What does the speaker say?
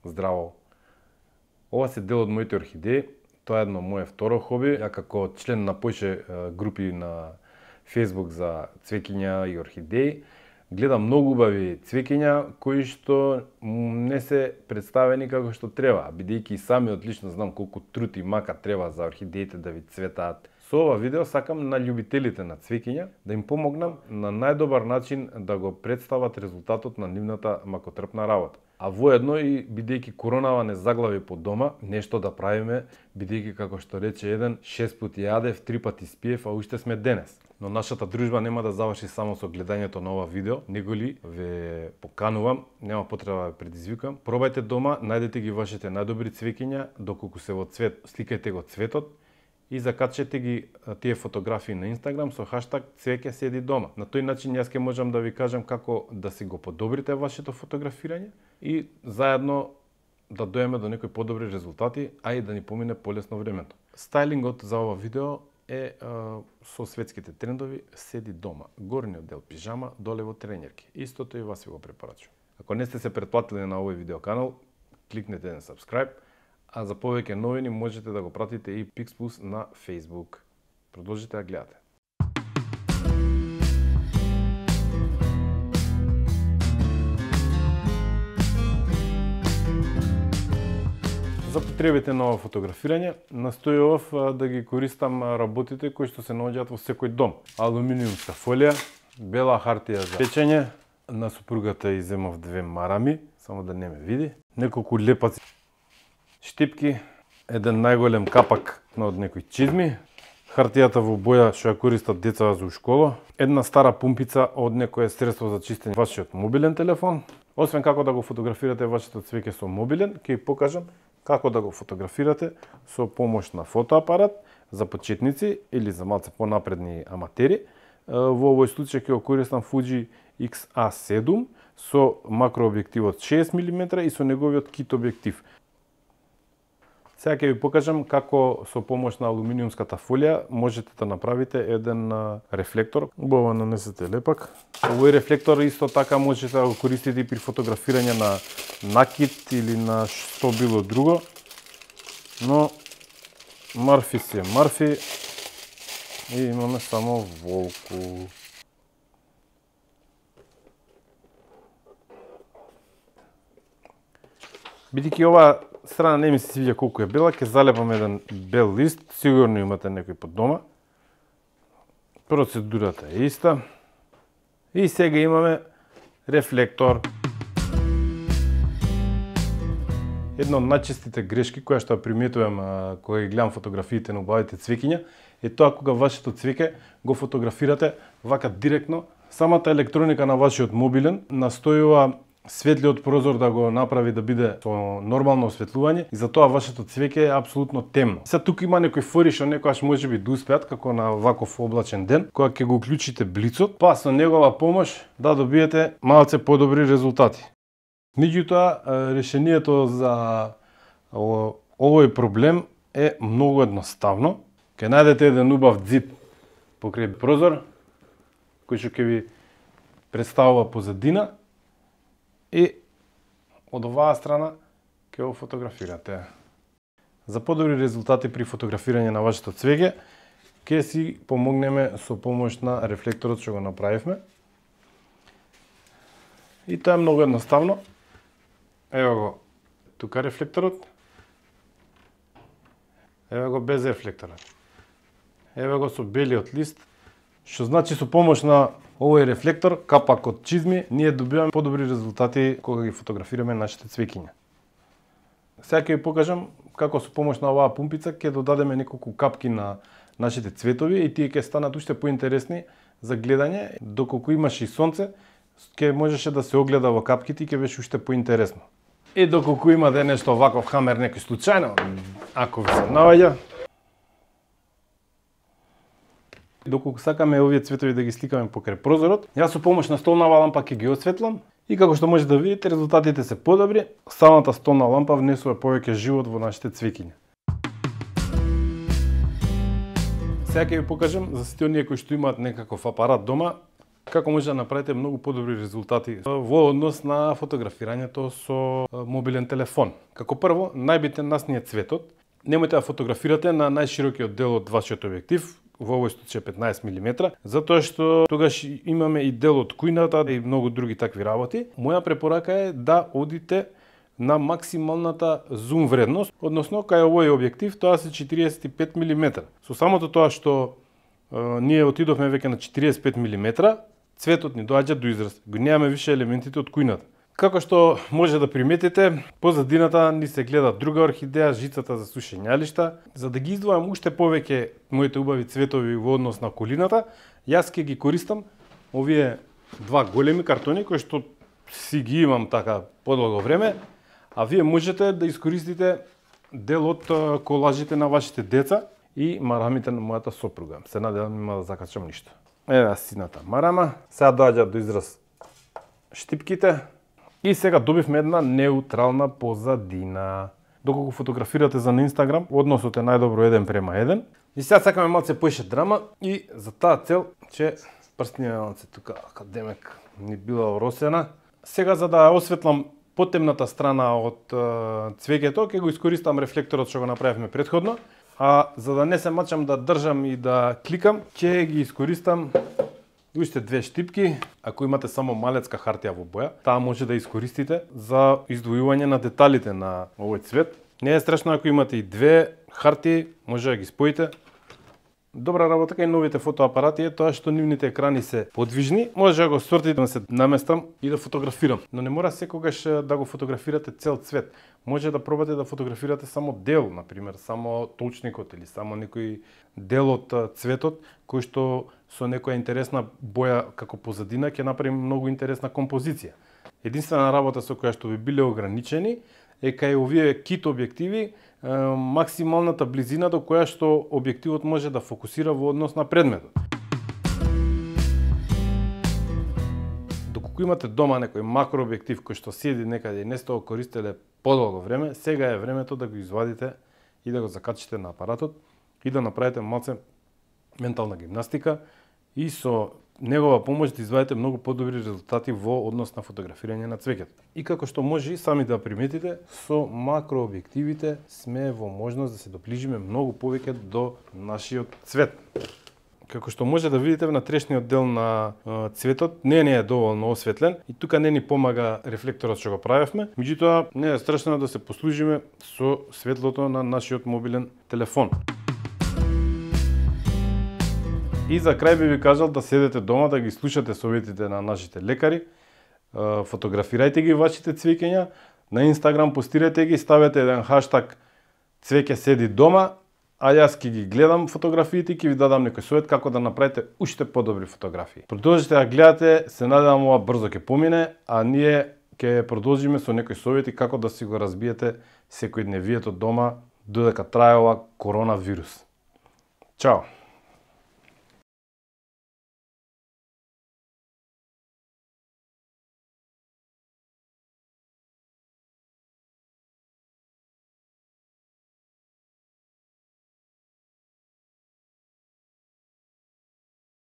здраво. Ова се дел од моите орхидеи. Тоа е едно мое второ хоби. Ја како член на поише групи на Facebook за цвеќиња и орхидеи, гледам многу убави цвеќиња кои што не се представени како што треба, бидејќи и сами одлично знам колку труд и мака треба за орхидеите да ви цветаат. Со ова видео сакам на љубителите на цвеќиња да им помогнам на најдобар начин да го представат резултатот на нивната макотрпна работа. А воедно и бидејќи коронава не заглави по дома, нешто да правиме, бидејќи како што рече еден, 6 пати јадев, 3 пати спиев, а уште сме денес. Но нашата дружба нема да заврши само со гледањето на ова видео, него ли ве поканувам, нема потреба да ве предизвикам. Пробајте дома, најдете ги вашите најдобри цвеќиња, доколку се во цвет, сликајте го цветот и закачете ги тие фотографии на Инстаграм со хаштаг цвеќе седи дома. На тој начин јас ќе можам да ви кажам како да си го подобрите вашето фотографирање и заедно да доеме до некои подобри резултати, а и да ни помине полесно времето. Стајлингот за ова видео е со светските трендови седи дома. Горниот дел пижама, долево тренерки. Истото и вас ви го препорачувам. Ако не сте се претплатили на овој видеоканал, кликнете на subscribe, а за повеќе новини можете да го пратите и Pixplus на Facebook. Продолжите да гледате. За потребите на ова фотографирање, настојував да ги користам работите кои што се наоѓаат во секој дом. Алуминиумска фолија, бела хартија за печење, на супругата и земав 2 марами, само да не ме види, неколку лепаци, штипки, еден најголем капак од некои чизми, хартијата во боја што ја користат децата за школа, една стара пумпица од некое средство за чистење вашиот мобилен телефон. Освен како да го фотографирате вашето цвеќе со мобилен, ќе ви покажам како да го фотографирате со помош на фотоапарат за почетници или за малце понапредни аматери. Во овој случај ќе го користам Fuji X-A7 со макрообјективот 6 мм и со неговиот кит објектив. Сега ќе ви покажам како со помош на алуминиумската фолија можете да направите еден рефлектор. Убаво нанесете лепак. Овој рефлектор исто така можете да го користите и при фотографирање на накид или на што било друго. Но марфи си е марфи и имаме само волку. Бидејќи ова страна не ми се свиѓа колку е бела, ќе залепам еден бел лист, сигурно имате некој под дома. Процедурата е иста. И сега имаме рефлектор. Една од најчестите грешки која што ја приметувам кога ги гледам фотографиите на убавите цвеќиња е тоа кога вашето цвеќе го фотографирате вака директно. Самата електроника на вашиот мобилен настојува светлиот прозор да го направи да биде со нормално осветлување и затоа вашето цвеќе е апсолутно темно. Сега тука има некои фори што некогаш можеби да успеат како на ваков облачен ден, кога ќе го уклучите блицот, па со негова помош да добиете малце подобри резултати. Меѓутоа, решението за овој проблем е многу едноставно. Ќе најдете еден убав ѕид покрај прозор, кој што ќе ви представува позадина, и од оваа страна ќе го фотографирате. За подобри резултати при фотографирање на вашето цвеќе, ќе си помогнеме со помош на рефлекторот што го направивме. И тоа е многу едноставно. Ево го тука рефлекторот. Ево го без рефлекторот. Ево го со белиот лист, што значи со помош на овој рефлектор, капак од чизми, ние добиваме подобри резултати кога ги фотографираме нашите цвеќиња. Сега ќе ви покажам како со помош на оваа пумпица ќе додадеме неколку капки на нашите цветови и тие ќе станат уште поинтересни за гледање. Доколку имаше и сонце, ќе можеше да се огледа во капките и ќе беше уште поинтересно. И доколку имате нешто ваков хамер некој случајно, ако ви се наоѓа, доколку сакаме овие цветови да ги сликаме покрај прозорот, јас со помош на столнава лампа ќе ги осветлам и како што можете да видите, резултатите се подобри. Самата столна лампа внесува повеќе живот во нашите цвеќиња. Сега ќе ви покажам за сите оние кои што имаат некаков апарат дома, како може да направите многу подобри резултати во однос на фотографирањето со мобилен телефон. Како прво, најбитен насни е цветот. Немојте да фотографирате на најширокиот дел од вашиот објектив, во овој случај 15 мм, затоа што тогаш имаме и дел од кујната и многу други такви работи. Моја препорака е да одите на максималната зум вредност, односно кај овој објектив тоа се 45 мм. Со самото тоа што ние отидовме веќе на 45 мм, цветот ни доаѓа до израз. Го немаме више елементите од кујната. Како што може да приметите, позадината ни се гледа друга орхидеја, жицата за сушењалишта. За да ги издвојам уште повеќе моите убави цветови во однос на околината, јас ќе ги користам овие два големи картони кои што си ги имам така подолго време, а вие можете да искористите дел од колажите на вашите деца и марамите на мојата сопруга. Се надевам нема да закачам ништо. Еве сината марама, сега доаѓа до израз штипките. И сега добивме една неутрална позадина. Доколку фотографирате за на Инстаграм, односот е најдобро 1:1. И сега сакаме малце поише драма и за таа цел че прстниот малце тука академик ни била оросена. Сега за да ја осветлам потемната страна од цвеќето, ќе го искористам рефлекторот што го направивме претходно. А за да не се мачам да држам и да кликам, ќе ги искористам уште две штипки. Ако имате само малецка хартија во боја, таа може да искористите за издвојување на деталите на овој цвет. Не е страшно ако имате и две хартии, може да ги споите. Добра работа кај новите фотоапарати е тоа што нивните екрани се подвижни, може да го свртите да се наместам и да фотографирам. Но не мора секогаш да го фотографирате цел цвет. Може да пробате да фотографирате само дел, например, само толчникот или само некој дел од цветот кој што со некоја интересна боја како позадина ќе направи многу интересна композиција. Единствена работа со која што би биле ограничени е кај овие кит објективи максималната близина до која што објективот може да фокусира во однос на предметот. Доколку имате дома некој макрообјектив кој што седи некаде и не сте го користеле подолго време, сега е времето да го извадите и да го закачите на апаратот и да направите малце ментална гимнастика и со негова помош да извадите многу подобри резултати во однос на фотографирање на цвеќето. И како што може и сами да приметите, со макрообјективите сме во можност да се доближиме многу повеќе до нашиот цвет. Како што може да видите на трешниот дел на цветот, не е доволно осветлен и тука не ни помага рефлекторот што го правевме, меѓутоа не е страшно да се послужиме со светлото на нашиот мобилен телефон. И за крај би ви кажал да седете дома, да ги слушате советите на нашите лекари, фотографирајте ги вашите цвеќења, на Инстаграм постирате ги, ставете еден хаштаг цвеќе седи дома, а јас ќе ги гледам фотографиите и ќе ви дадам некој совет како да направите уште подобри фотографии. Продолжите да гледате, се надевам ова брзо ќе помине, а ние ќе продолжиме со некои совети како да си го разбиете секојдневието дома додека трае ова коронавирус. Чао!